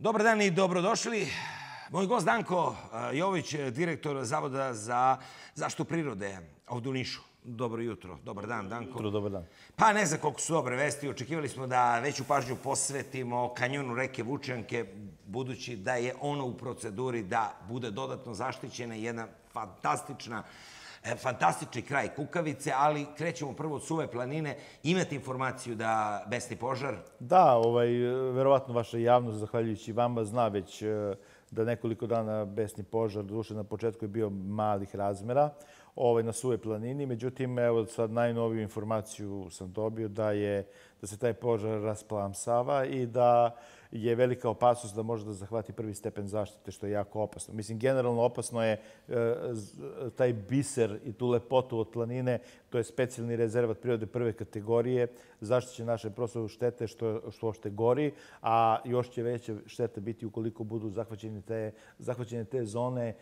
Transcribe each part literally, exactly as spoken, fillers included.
Dobar dan i dobrodošli. Moj gost Danko Jović, direktor Zavoda za zaštitu prirode ovdje u Nišu. Dobro jutro, dobar dan, Danko. Jutro, dobar dan. Pa ne znam koliko su dobre vesti. Očekivali smo da veću pažnju posvetimo kanjonu reke Vučjanke, budući da je ono u proceduri da bude dodatno zaštićena, jedna fantastična fantastični kraj Kukavice, ali krećemo prvo od Suve planine. Imate informaciju da besni požar? Da, ovaj, verovatno vaša javnost, zahvaljujući vama, zna već da nekoliko dana besni požar, doduše na početku je bio malih razmera, ovaj, na Suve planini. Međutim, evo sad najnoviju informaciju sam dobio da, je, da se taj požar rasplamsava i da je velika opasnost da može da zahvati prvi stepen zaštite, što je jako opasno. Mislim, generalno opasno je e, taj biser i tu lepotu od planine, to je specijalni rezervat prirode prve kategorije, zaštiće naše prostorne štete što, što ošte gori, a još će veće štete biti ukoliko budu zahvaćene te, zahvaćene te zone e,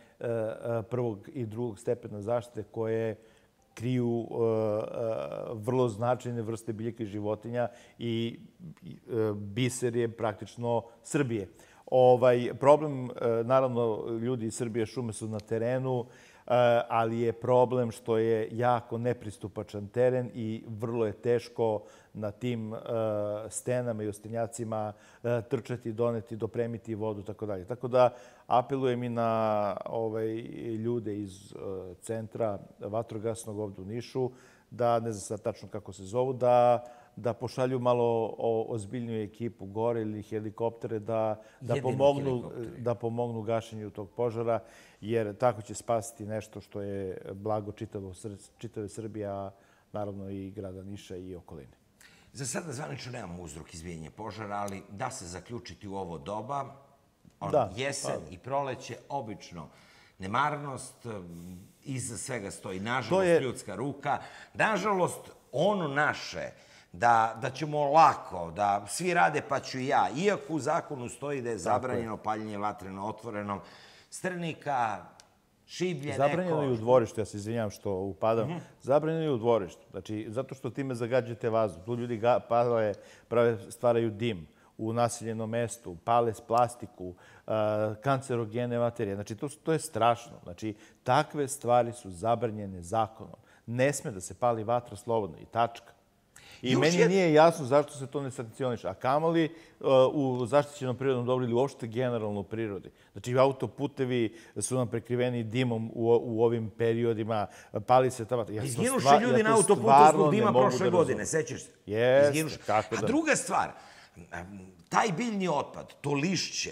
prvog i drugog stepena zaštite koje kriju uh, uh, vrlo značajne vrste biljaka i životinja i uh, biser je praktično Srbije. Ovaj, problem, uh, naravno, ljudi iz Srbije šume su na terenu, uh, ali je problem što je jako nepristupačan teren i vrlo je teško na tim uh, stenama i ostenjacima uh, trčati, doneti, dopremiti vodu, tako dalje. Tako da apelujem i na ovaj, ljude iz uh, centra vatrogasnog ovdje u Nišu, da, ne znam sad tačno kako se zovu, da, da pošalju malo o, ozbiljniju ekipu gore ili helikoptere da, da, pomognu, da pomognu gašenju tog požara, jer tako će spasiti nešto što je blago čitavo, čitave Srbije, a naravno i grada Niša i okoline. Za sada zvanično nemamo uzrok izbijanja požara, ali da se zaključiti u ovo doba, on, da, jesen pa. i proleće, obično nemarnost, iza svega stoji, nažalost, je... ljudska ruka. Nažalost, ono naše, da, da ćemo lako, da svi rade pa ću i ja, iako u zakonu stoji da je zabranjeno paljenje vatre na otvorenom, strnika, šiblje, neko... Zabranjeno je u dvorištu, ja se izvinjam što upadam. Mm-hmm. Zabranjeno je u dvorištu, znači, zato što time zagađujete vazduh. Tu ljudi ga, pale, prave, stvaraju dim u naseljenom mestu, pale s plastiku, uh, kancerogene materije. Znači, to, to je strašno. Znači, takve stvari su zabranjene zakonom. Ne sme da se pali vatra slobodno i tačka. I Još meni je... nije jasno zašto se to ne sankcioniše. A kamoli uh, u zaštićenom prirodnom dobru ili uopšte generalno u prirodi. Znači, autoputevi su nam prekriveni dimom u, u ovim periodima, pali se ta vatra. Ja Izginuše ljudi ja na autoputu zbog dima prošle godine, sećaš se? Jeste, kako da. A druga stvar, taj biljni otpad, to lišće,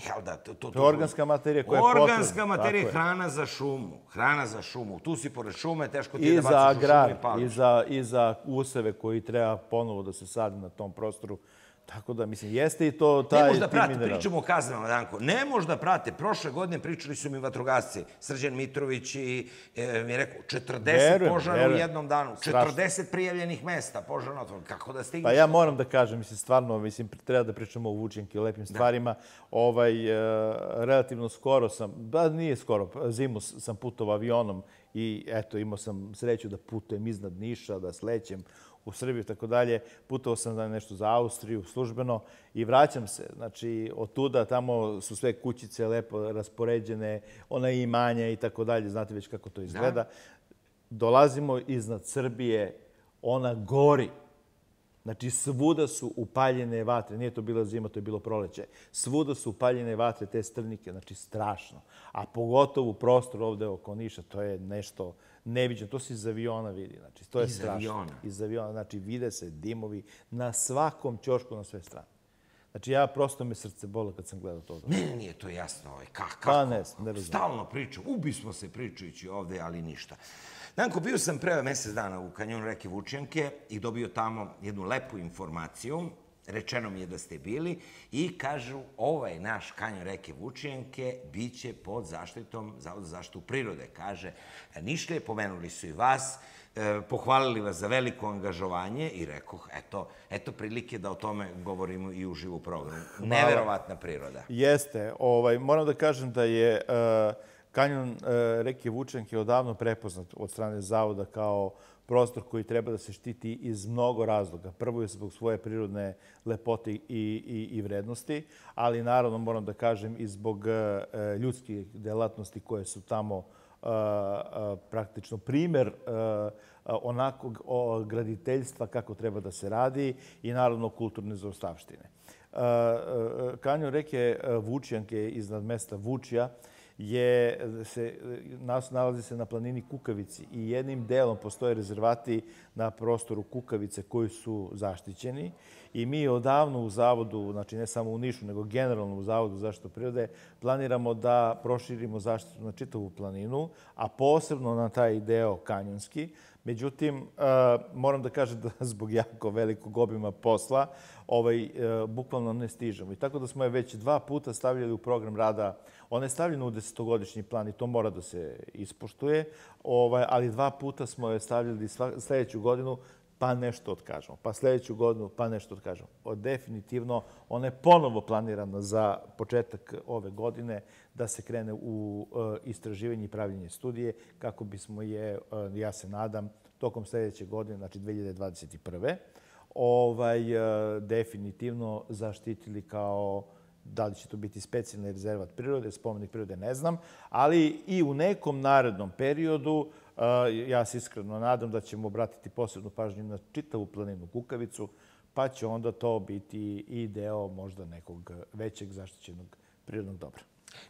jel da, to, to, to je organska materija koja je potrebna. Organska materija, hrana za šumu. Hrana za šumu. Tu si pored šume, teško ti je da baciš u šumu i pališ. I za, i za useve koji treba ponovo da se sadi na tom prostoru. Tako da, mislim, jeste i to taj... Ne možda prate, pričamo o kaznama, Danko. Ne možda prate. Prošle godine pričali su mi vatrogasci. Srđan Mitrović i e, mi je rekao, četrdeset verujem, požara verujem. u jednom danu. Strašno. četrdeset prijavljenih mesta požara na otvorenom. Kako da stigneš? Pa ja moram da kažem, mislim, stvarno, mislim, treba da pričamo o Vučjanki, o lepim stvarima. Da. Ovaj, e, relativno skoro sam, ba nije skoro, zimu sam putovao avionom i eto, imao sam sreću da putujem iznad Niša, da slećem u Srbiju i tako dalje. Putovao sam da nešto za Austriju službeno i vraćam se. Znači, od tuda tamo su sve kućice lepo raspoređene, ona imanja i tako dalje. Znate već kako to izgleda. Da. Dolazimo iznad Srbije, ona gori. Znači, svuda su upaljene vatre. Nije to bila zima, to je bilo proleće. Svuda su upaljene vatre, te strnike. Znači, strašno. A pogotovo prostor ovde oko Niša, to je nešto neviđeno. To se iz aviona vidi. Znači, to je iz strašno. Aviona. Iz aviona. Znači, vide se dimovi na svakom ćošku, na sve strane. Znači, ja prosto me srce bolo kad sam gledao to. Ne, ne, nije to jasno. Ovaj. Kako? Pa ne, ne razumijem. Stalno pričam. Ubismo se pričajući ovde, ali ništa. Danko, bio sam pre mjesec dana u kanjonu reke Vučjanke i dobio tamo jednu lepu informaciju. Rečeno mi je da ste bili i kažu ovaj naš kanjon reke Vučjanke bit će pod zaštitom Zavoda za zaštitu prirode. Kaže, Nišlije, pomenuli su i vas, eh, pohvalili vas za veliko angažovanje i rekoh, eto, eto prilike da o tome govorimo i u živu programu. Neverovatna priroda. Jeste. Ovaj, moram da kažem da je... Uh, Kanjon reke Vučjanke je odavno prepoznat od strane Zavoda kao prostor koji treba da se štiti iz mnogo razloga. Prvo je zbog svoje prirodne lepote i, i, i vrednosti, ali naravno moram da kažem i zbog ljudskih delatnosti koje su tamo uh, uh, praktično primer uh, onakog graditeljstva kako treba da se radi i naravno kulturne zaostavštine. Kanjon reke Vučjanke iznad mesta Vučja je, se, nas nalazi se na planini Kukavici i jednim delom postoje rezervati na prostoru Kukavice koji su zaštićeni i mi odavno u Zavodu, znači ne samo u Nišu, nego generalno u Zavodu za zaštitu prirode, planiramo da proširimo zaštitu na čitavu planinu, a posebno na taj deo kanjonski. Međutim, moram da kažem da zbog jako velikog obima posla ovaj, bukvalno ne stižemo. I tako da smo je već dva puta stavljali u program rada. Ona je stavljena u desetogodišnji plan i to mora da se ispoštuje, ovaj, ali dva puta smo je stavljali sljedeću godinu pa nešto otkažemo, pa sljedeću godinu pa nešto otkažemo. Definitivno, ona je ponovo planirana za početak ove godine da se krene u istraživanje i pravljenje studije kako bismo je, ja se nadam, tokom sljedeće godine, znači dve hiljade dvadeset prve. Ovaj, definitivno zaštitili kao, da li će to biti specijalni rezervat prirode, spomenik prirode, ne znam, ali i u nekom narednom periodu ja se iskreno nadam da ćemo obratiti posebnu pažnju na čitavu planinu Kukavicu, pa će onda to biti i deo možda nekog većeg zaštićenog prirodnog dobra.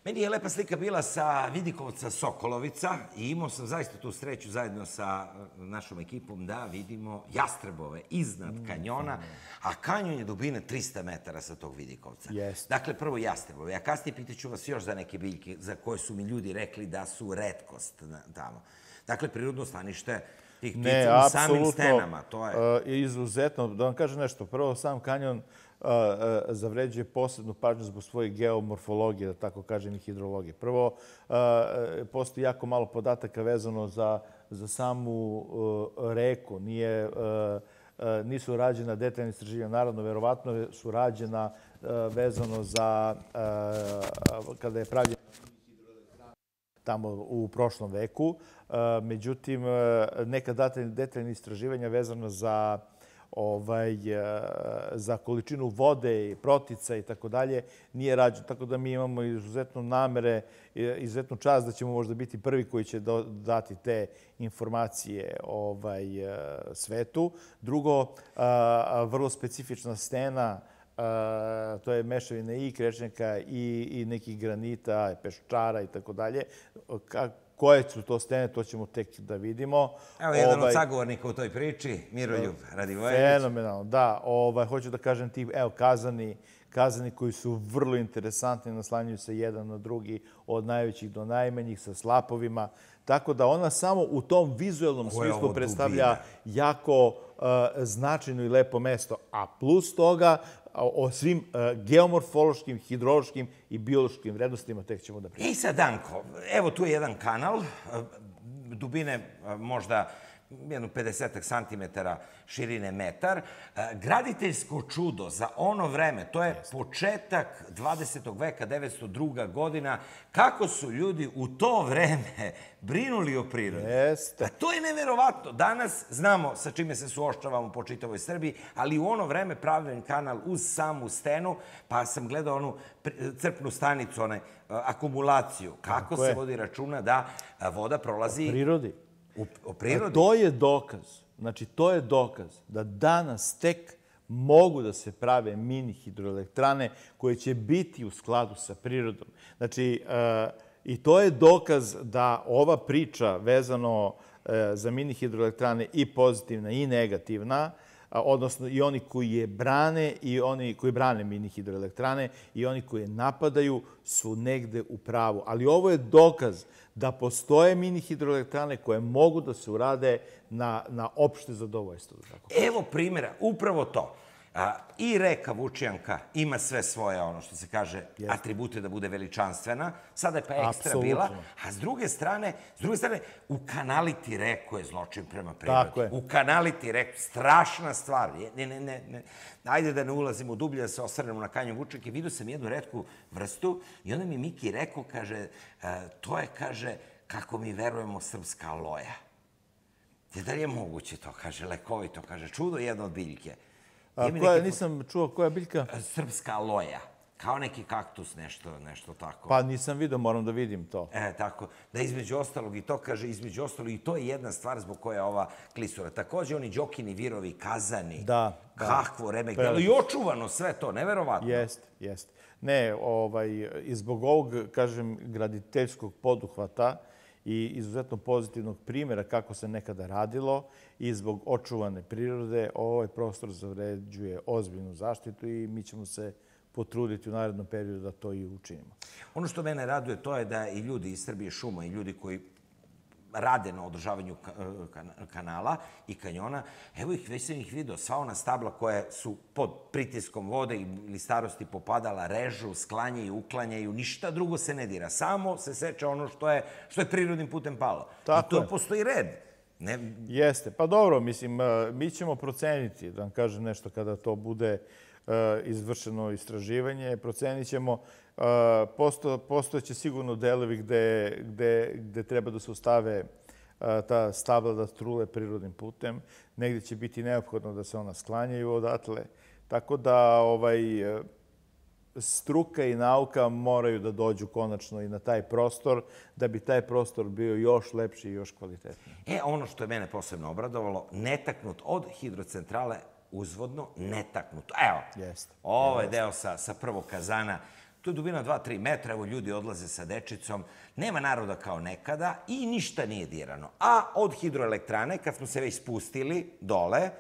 Meni je lepa slika bila sa Vidikovca Sokolovica i imao sam zaista tu sreću zajedno sa našom ekipom da vidimo jastrebove iznad kanjona, a kanjon je dubine trista metara sa tog Vidikovca. Yes. Dakle, prvo jastrebove. A kasnije pitaću vas još za neke biljke za koje su mi ljudi rekli da su retkost tamo. Dakle, prirodno stanište tih ptica u samim stenama. To je izuzetno. Da vam kažem nešto. Prvo, sam kanjon zavređuje posebnu pažnju zbog svoje geomorfologije, da tako kažem, i hidrologije. Prvo, postoji jako malo podataka vezano za, za samu reku. Nije, nisu rađena detaljna istraživanja. Naravno, verovatno su rađena vezano za kada je pravljena tamo u prošlom veku. Međutim, neka detaljna istraživanja vezano za ovaj, za količinu vode, protica i tako dalje, nije rađeno. Tako da mi imamo izuzetno namere, izuzetnu čast da ćemo možda biti prvi koji će dati te informacije ovaj, svetu. Drugo, vrlo specifična stena, to je mešavina i krečnjaka i, i nekih granita, peščara i tako dalje. Koje su to stene, to ćemo tek da vidimo. Evo jedan ovaj, od sagovornika u toj priči, Miroljub Radivojević. Fenomenalno, da. Ovaj, hoću da kažem ti, evo, kazani, kazani koji su vrlo interesantni, naslanjuju se jedan na drugi, od najvećih do najmanjih, sa slapovima. Tako da ona samo u tom vizualnom smislu predstavlja jako uh, značajno i lepo mesto. A plus toga, o svim uh, geomorfološkim, hidrološkim i biološkim vrednostima tek ćemo da pričamo. I sad, Danko, evo tu je jedan kanal, dubine možda jedno pedesetak santimetara, širine metar. Graditeljsko čudo za ono vreme, to je početak dvadesetog veka, devetsto druga godina, kako su ljudi u to vreme brinuli o prirodi. Jeste. To je neverovatno. Danas znamo sa čime se suočavamo po čitavoj Srbiji, ali u ono vreme pravljen kanal uz samu stenu, pa sam gledao onu crpnu stanicu, onaj akumulaciju. Kako se vodi računa da voda prolazi... O prirodi. O prirodi. To je dokaz. Znači, to je dokaz da danas tek mogu da se prave mini hidroelektrane koje će biti u skladu sa prirodom. Znači, i to je dokaz da ova priča vezano za mini hidroelektrane i pozitivna i negativna, odnosno i oni koji je brane i oni koji brane mini hidroelektrane i oni koji je napadaju su negde u pravu. Ali ovo je dokaz da postoje mini hidroelektrane koje mogu da se urade na, na opšte zadovoljstvo. Evo primjera, upravo to. I reka Vučijanka ima sve svoje, ono što se kaže, atribute da bude veličanstvena. Sada je pa ekstra bila. A s druge strane, s druge strane, ukanaliti reku je zločin prema prirodi. Ukanaliti reku, strašna stvar. Ne, ne, ne. Ajde da ne ulazimo dublje, da se osvrnemo na kanjon Vučijanke. Vidio sam jednu retku vrstu i onda mi Miki rekao, kaže, to je, kaže, kako mi verujemo, srpska aloja. Da li je moguće to, kaže, lekovito, kaže, čudo jedno od biljke. Nisam čuo koja biljka? Srpska aloja. Kao neki kaktus, nešto tako. Pa nisam vidio, moram da vidim to. E, tako. Da između ostalog i to, kaže, između ostalog i to je jedna stvar zbog koje je ova klisura. Također oni Đokini, Virovi, Kazani, Kahvo, Remek, i očuvano sve to, neverovatno. Jeste, jeste. Ne, i zbog ovog, kažem, graditeljskog poduhvata i izuzetno pozitivnog primjera kako se nekada radilo i zbog očuvane prirode, ovaj prostor zavređuje ozbiljnu zaštitu i mi ćemo se potruditi u narednom periodu da to i učinimo. Ono što mene raduje to je da i ljudi iz Srbije šuma i ljudi koji rade na održavanju kanala i kanjona, evo ih, već sam ih vidio, sva ona stabla koje su pod pritiskom vode ili starosti popadala, režu, sklanjaju, uklanjaju, ništa drugo se ne dira. Samo se seče ono što je prirodnim putem palo. I to postoji red. Jeste. Pa dobro, mislim, mi ćemo proceniti, da vam kažem nešto, kada to bude izvršeno istraživanje, procenit ćemo. Postojeće sigurno delovi gde treba da se ostave ta stabla da trule prirodnim putem. Negdje će biti neophodno da se ona sklanjaju odatle. Tako da struka i nauka moraju da dođu konačno i na taj prostor, da bi taj prostor bio još lepši i još kvalitetniji. E, ono što je mene posebno obradovalo, netaknut od hidrocentrale uzvodno, netaknut. Evo, ovaj deo sa prvog kazana, tu je dubina dva do tri metra, evo ljudi odlaze sa dečicom, nema naroda kao nekada i ništa nije dirano. A od hidroelektrane, kad smo se već spustili dole,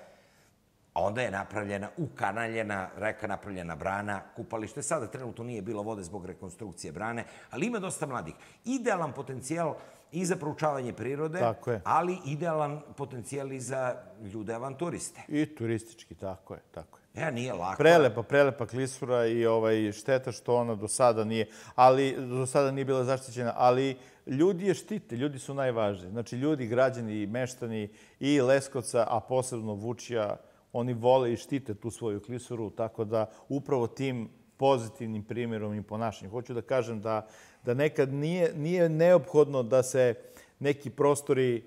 onda je napravljena, ukanaljena reka, napravljena brana, kupalište. Sada trenutno nije bilo vode zbog rekonstrukcije brane, ali ima dosta mladih. Idealan potencijal i za proučavanje prirode, ali idealan potencijal i za ljude avanturiste. I turistički, tako je, tako je. Ja, nije lako. Prelepa, prelepa klisura i šteta što ona do sada nije, ali do sada nije bila zaštićena, ali ljudi je štite, ljudi su najvažniji. Znači, ljudi, građani i meštani i Leskovca, a posebno Vučija, oni vole i štite tu svoju klisuru, tako da upravo tim pozitivnim primjerom i ponašanjem. Hoću da kažem da nekad nije neophodno da se neki prostori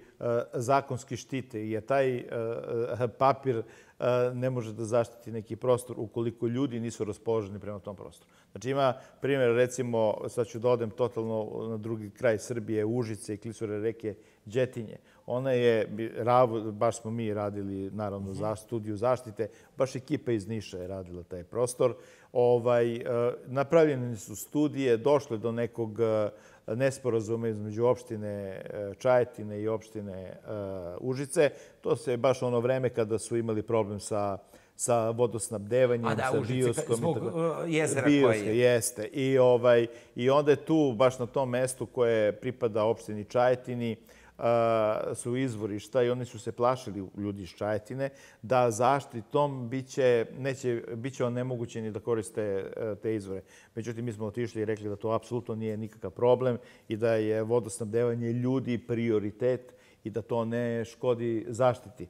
zakonski štite, jer taj papir ne može da zaštiti neki prostor ukoliko ljudi nisu raspoloženi prema tom prostoru. Znači ima primjer, recimo, sad ću da odem totalno na drugi kraj Srbije, Užice i klisure reke Đetinje. Ona je, baš smo mi radili, naravno, za studiju zaštite, baš ekipa iz Niša je radila taj prostor. Napravljene su studije, došle do nekog nesporazuma između opštine Čajetine i opštine Užice. To se baš ono vreme kada su imali problem sa sa vodosnabdevanjem, sa bioskom. Zbog jezera koje je. Jeste. I onda je tu, baš na tom mestu koje pripada opštini Čajetini, su izvorišta i oni su se plašili, ljudi iz Čajetine, da zaštitom biće onemogućeni da koriste te izvore. Međutim, mi smo otišli i rekli da to apsolutno nije nikakav problem i da je vodosnabdevanje ljudi prioritet i da to ne škodi zaštiti.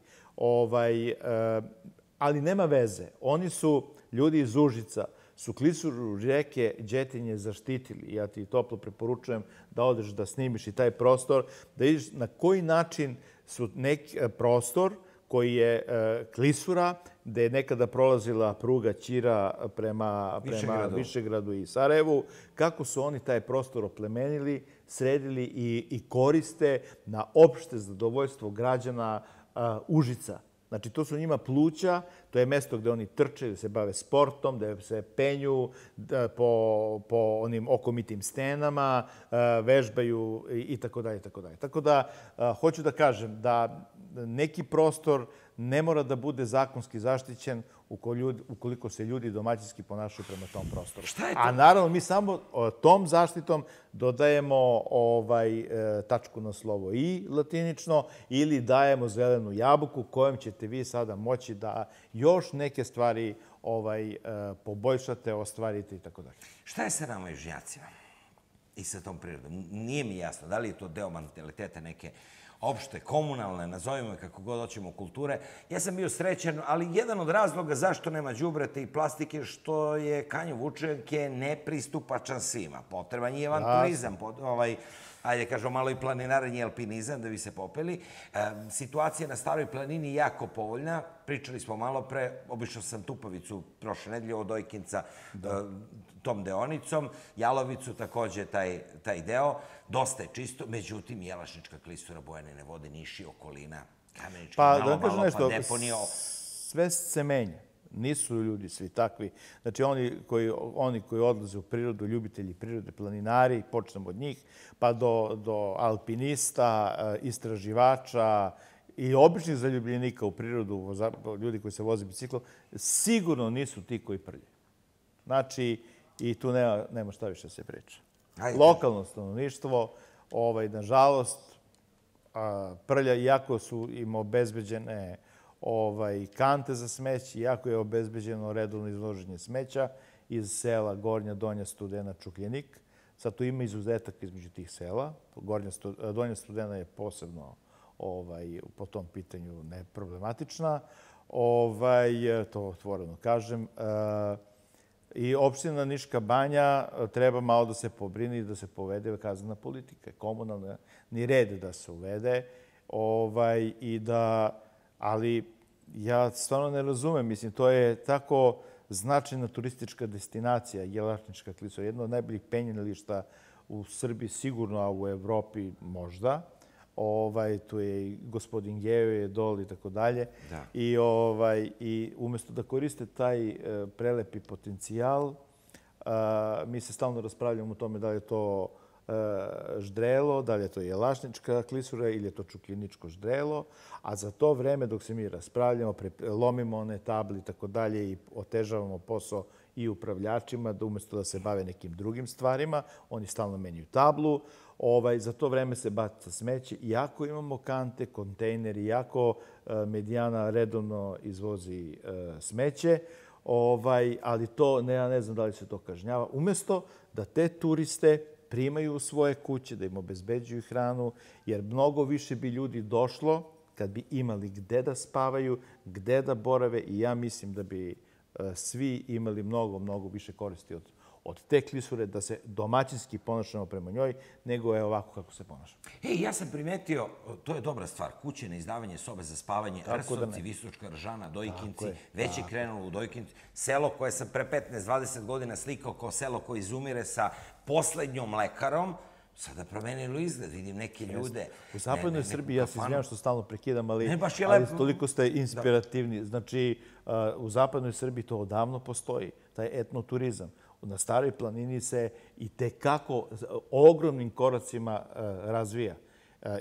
Ali nema veze. Oni su, ljudi iz Užica, su klisuru reke Đetinje zaštitili. Ja ti toplo preporučujem da odeš da snimiš i taj prostor, da vidiš na koji način su neki prostor koji je klisura, gde je nekada prolazila pruga Ćira prema Višegradu i Sarajevu, kako su oni taj prostor oplemenili, sredili i koriste na opšte zadovoljstvo građana Užica. Znači, to su njima pluća, to je mesto gde oni trče, gde se bave sportom, gde se penju po onim okomitim stenama, vežbaju i tako dalje, i tako dalje. Tako da, hoću da kažem da neki prostor ne mora da bude zakonski zaštićen ukoliko se ljudi domaćinski ponašaju prema tom prostoru. Šta je to? A naravno, mi samo tom zaštitom dodajemo ovaj, tačku na slovo i latinično ili dajemo zelenu jabuku kojom ćete vi sada moći da još neke stvari ovaj, poboljšate, ostvarite i tako dalje. Šta je sa nama južnjacima i sa tom prirodom? Nije mi jasno da li je to deo mentaliteta neke opšte, komunalne, nazovimo je kako god hoćemo, kulture. Ja sam bio srećan, ali jedan od razloga zašto nema đubreta i plastike što je Kanjon Vučjanke nepristupačan svima. Potreban je avanturizam, ovaj, ajde kažemo malo i planinarenje i alpinizam da bi se popeli. Situacija na Staroj planini je jako povoljna. Pričali smo malo pre, obišao sam Tupavicu prošle nedelje od Dojkinca tom deonicom, Jalovicu takođe taj deo. Dosta je čisto, međutim, Jelašnička klisura, Bojanine vode, Niš i okolina, Kamenički, malo, malo, pa deponija. Sve se menja. Nisu ljudi svi takvi. Znači, oni koji odlaze u prirodu, ljubitelji prirode, planinari, počnemo od njih, pa do alpinista, istraživača i običnih zaljubljenika u prirodu, ljudi koji se voze biciklom, sigurno nisu ti koji prljaju. Znači, i tu nema šta više se priča. Lokalno stanovništvo, nažalost, prlja, iako su im obezbeđene kante za smeće, iako je obezbeđeno redovno izloženje smeća iz sela Gornja, Donja Studena, Čukljenik. Sad tu ima izuzetak između tih sela. Donja Studena je posebno po tom pitanju neproblematična. To otvoreno kažem. I opština Niška banja treba malo da se pobrini i da se povede kaznena politika, komunalni red da se uvede. Ali ja stvarno ne razumem. Mislim, to je tako značajna turistička destinacija, Jelašnička klisura, jedno od najboljih penjališta u Srbiji, sigurno, a u Evropi možda. Tu je i gospodin Geo, je dol i tako dalje. I umjesto da koriste taj prelepi potencijal, mi se stalno raspravljamo o tome da li je to ždrelo, da li je to Jelašnička klisura ili je to Čukljeničko ždrelo, a za to vreme dok se mi raspravljamo, lomimo one table i tako dalje i otežavamo posao i upravljačima, da umjesto da se bave nekim drugim stvarima, oni stalno menjaju tablu. Za to vreme se baca smeće. Iako imamo kante, kontejneri, iako Medijana redovno izvozi smeće, ali to, ja ne znam da li se to kažnjava, umjesto da te turiste primaju u svoje kuće, da im obezbeđuju hranu, jer mnogo više bi ljudi došlo kad bi imali gde da spavaju, gde da borave i ja mislim da bi svi imali mnogo, mnogo više koristi od te klisure, da se domaćinski ponašamo prema njoj, nego je ovako kako se ponašamo. Ej, ja sam primetio, to je dobra stvar, kuće na izdavanje sobe za spavanje, Rsovci, Visočka Ržana, Dojkinci, već je krenulo u Dojkinci, selo koje sam pre petnaest dvadeset godina slikao kao selo koje izumire sa poslednjom lekarom, sada promenilo izgled, vidim neke ljude. U zapadnoj Srbiji, ja se izvinjam što stalno prekidam, ali toliko ste inspirativni. Znači, u zapadnoj Srbiji to odavno postoji, taj etnoturizam. Na Staroj planini se i tekako ogromnim koracima razvija.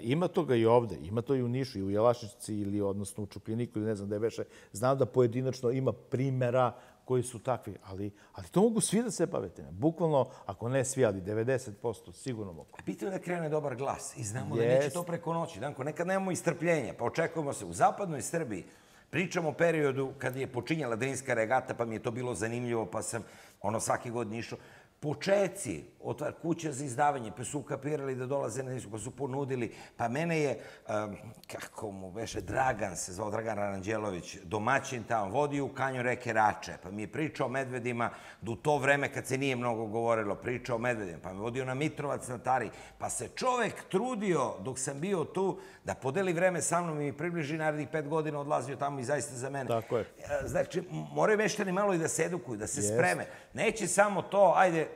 Ima toga i ovde, ima to i u Nišu, i u Jelašnici, ili odnosno u Čukljeniku, ili ne znam gde beše. Znam da pojedinačno ima primjera koji su takvi, ali to mogu svi da se bave time. Bukvalno, ako ne svi, ali devedeset posto sigurno mogu. Bitno je da krene dobar glas i znamo da neće to preko noći. Danko, nekad nemamo i strpljenja, pa očekujemo se. U zapadnoj Srbiji pričamo o periodu kad je počinjala Drinska regata, pa mi je to bilo zanimljivo, pa sam ono svaki godin išao. Počeci, otvar kuća za izdavanje, pa su ukapirali da dolaze na Nisku, pa su ponudili. Pa mene je, kako mu beše, Dragan se zvao, Dragan Aranđelović, domaćin tamo, vodio u kanjon reke Rače, pa mi je pričao o medvedima, da u to vreme kad se nije mnogo govorilo, pričao o medvedima, pa me vodio na Mitrovac na Tari, pa se čovek trudio dok sam bio tu da podeli vreme sa mnom i mi približi narednih pet godina odlazio tamo i zaista za mene. Tako je. Znači, moraju meštani malo i da se edukuju, da se spreme. Neće samo to, ajde,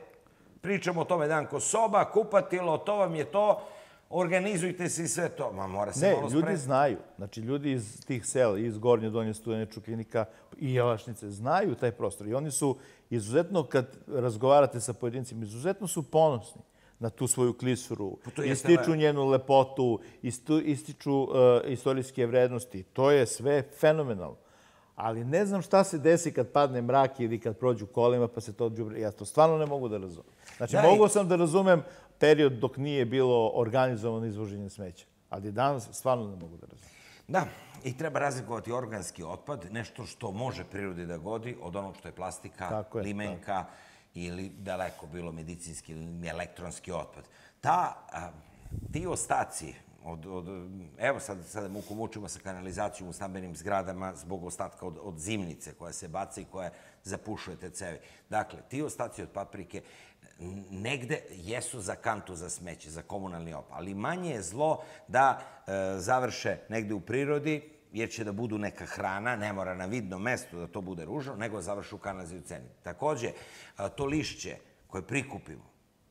pričamo o tome, Danko, soba, kupatilo, to vam je to, organizujte se i sve to. Ma, mora se malo spremiti. Ne, ljudi znaju. Znači, ljudi iz tih sela, iz Gornje, Donje Studene, Čukljenika i Jelašnice, znaju taj prostor. I oni su izuzetno, kad razgovarate sa pojedincima, izuzetno su ponosni. na tu svoju klisuru, to jeste ističu lepo. njenu lepotu, istu- ističu e, istorijske vrednosti. To je sve fenomenalno. Ali ne znam šta se desi kad padne mrak ili kad prođu kolima pa se to đubre. Ja to stvarno ne mogu da razumem. Znači, Da, i- mogu sam da razumem period dok nije bilo organizovano izvoženje smeća. Ali danas stvarno ne mogu da razumem. Da, i treba razlikovati organski otpad, nešto što može prirodi da godi, od onog što je plastika, Tako je, limenka ili daleko bilo medicinski ili elektronski otpad. Ta, a, ti ostaci, od, od, evo sad, sada muku mučimo sa kanalizacijom u stambenim zgradama zbog ostatka od, od zimnice koja se baca i koja zapušuje te cevi. Dakle, ti ostaci od paprike negde jesu za kantu za smeće, za komunalni otpad, ali manje je zlo da e, završe negde u prirodi, jer će da budu neka hrana, ne mora na vidnom mestu da to bude ružno, nego završi u kanalizaciji u ceni. Takođe, a, to lišće koje prikupimo,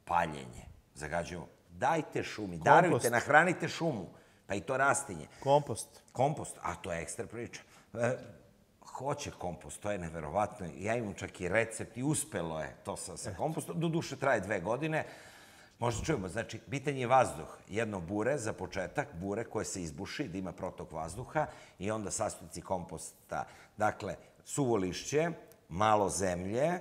paljenje, zagađujemo, dajte šumi, darujte, nahranite šumu, pa i to rastinje. Kompost. Kompost, a to je ekstra priča. E, hoće kompost, to je neverovatno. Ja imam čak i recept i uspelo je to sa, sa kompostom. Doduše traje dve godine. Možda čujemo, znači, bitan je vazduh. Jedno bure za početak, bure koje se izbuši, da ima protok vazduha i onda sastojci komposta. Dakle, suvo lišće, malo zemlje, e,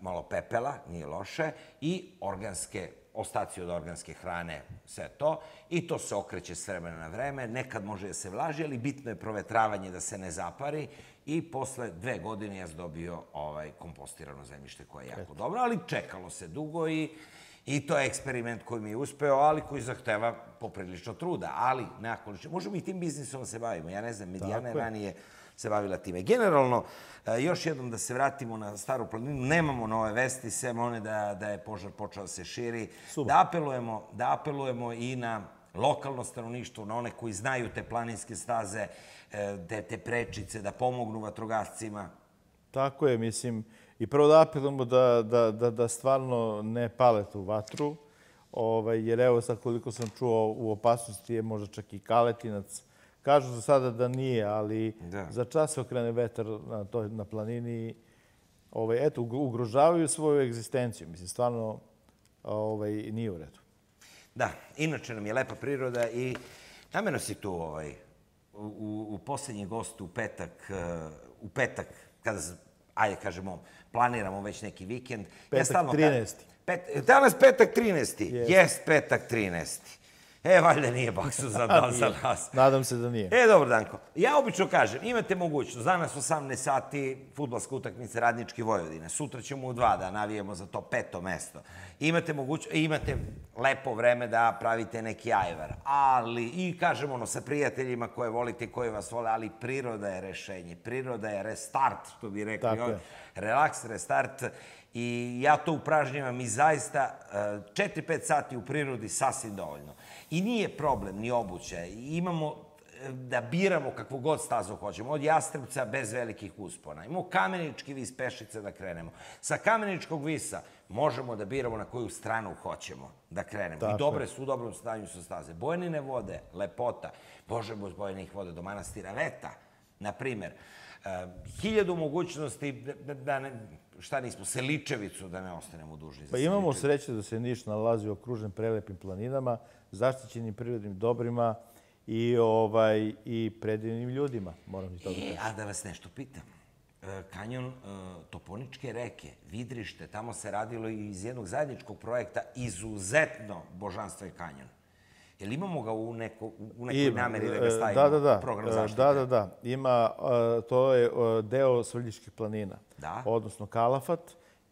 malo pepela, nije loše, i organske ostaci od organske hrane, sve to. I to se okreće s vremena na vreme. Nekad može da se vlaži, ali bitno je provetravanje da se ne zapari. I posle dve godine ja sam dobio ovaj kompostirano zemljište koje je jako dobro, ali čekalo se dugo i, i to je eksperiment koji mi je uspeo, ali koji zahteva poprilično truda. Ali, nekako, možemo i tim biznisom se bavimo. Ja ne znam, Medijana je ranije se bavila time. Generalno, još jednom da se vratimo na Staru planinu, nemamo nove vesti, sem one da, da je požar počeo da se širi. Da apelujemo, da apelujemo i na lokalno stanovništvo, na one koji znaju te planinske staze, te, te prečice, da pomognu vatrogascima. Tako je, mislim. I prvo da apelujemo da, da, da, da stvarno ne pale tu vatru, ovaj, jer evo sad koliko sam čuo u opasnosti je možda čak i Kaletinac. Kažu za sada da nije, ali Da. za čas se okrene vetar na, toj, na planini. Ovaj, eto, ugrožavaju svoju egzistenciju. Mislim, stvarno ovaj, nije u redu. Da, inače nam je lepa priroda i namjerno si tu ovaj, u, u posljednji gost u petak, u petak, kada, ajde kažemo, planiramo već neki vikend. Petak trinaesti. Pet, danas petak trinaesti. Jest petak trinaesti. E, valjda nije baksu za, dan za nas. Nadam se da nije. E, dobro, Danko. Ja obično kažem, imate mogućnost, danas osamnaest sati, fudbalska utakmica Radnički Vojvodine. Sutra ćemo u dva da navijemo za to peto mesto. Imate mogućnost, imate lepo vreme da pravite neki ajvar. Ali, i kažem ono, sa prijateljima koje volite i koje vas vole, ali priroda je rešenje. Priroda je restart, što bi rekli. Tako je. Relaks, restart. I ja to upražnjavam i zaista četiri pet sati u prirodi sasvim dovoljno. I nije problem ni obuće. Imamo da biramo kakvu god stazu hoćemo. Od Jastrebca bez velikih uspona. Imamo Kamenički vis pešice da krenemo. Sa Kameničkog visa možemo da biramo na koju stranu hoćemo da krenemo. Tako I dobre su, u dobrom stanju su staze. Bojanine vode, lepota. Možemo s Bojanih vode do manastira Veta, na primer. Hiljadu mogućnosti da, da ne, šta nismo, Seličevicu da ne ostanemo dužni. Pa imamo sreće da se Niš nalazi okružen prelepim planinama, zaštićenim prirodnim dobrima i, ovaj, i predivnim ljudima, moram i to da kažem. A da vas nešto pitam. Kanjon Toponičke reke, Vidrište, tamo se radilo iz jednog zajedničkog projekta, izuzetno božanstven kanjon. Jel imamo ga u, neko, u nekoj Ima, nameri da ga stavimo da, da, da. u program zaštite? Da, da, da. Ima, to je deo Svrljiških planina, da? odnosno Kalafat.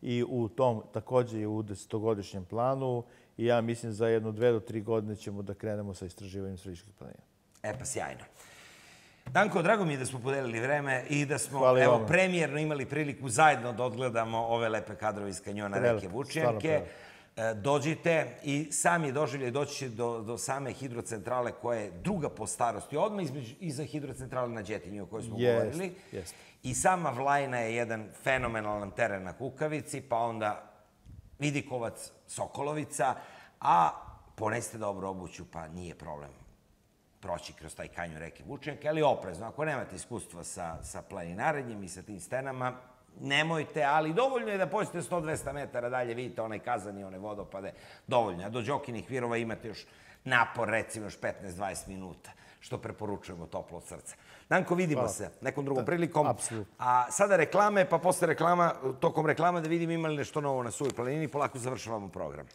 I u tom također je u desetogodišnjem planu i ja mislim za jedno dve do tri godine ćemo da krenemo sa istraživanjem Svrljiških planina. E pa sjajno. Danko, drago mi je da smo podelili vreme i da smo evo, premijerno imali priliku zajedno da odgledamo ove lepe kadrove iz kanjona reke Vučjanke. Dođite i sami doživljaj doći će do, do same hidrocentrale koja je druga po starosti, odmah između, iza hidrocentrale na Đetinju o kojoj smo yes, govorili. Yes. I sama Vlajna je jedan fenomenalan teren na Kukavici, pa onda Vidikovac, Sokolovica, a ponesite dobro obuću, pa nije problem proći kroz taj kanjon reke Vučjanke, ali oprezno. Ako nemate iskustva sa, sa planinarenjem i sa tim stenama, nemojte, ali dovoljno je da pođete sto do dvesta metara dalje, vidite onaj kazan i one vodopade, dovoljno. A do Đokinih virova imate još napor, recimo još petnaest do dvadeset minuta, što preporučujemo toplo od srca. Danko, vidimo se nekom drugom prilikom. Apsolutno. A sada reklame, pa posle reklama, tokom reklama da vidim ima li nešto novo na Suvoj planini, polako završavamo program.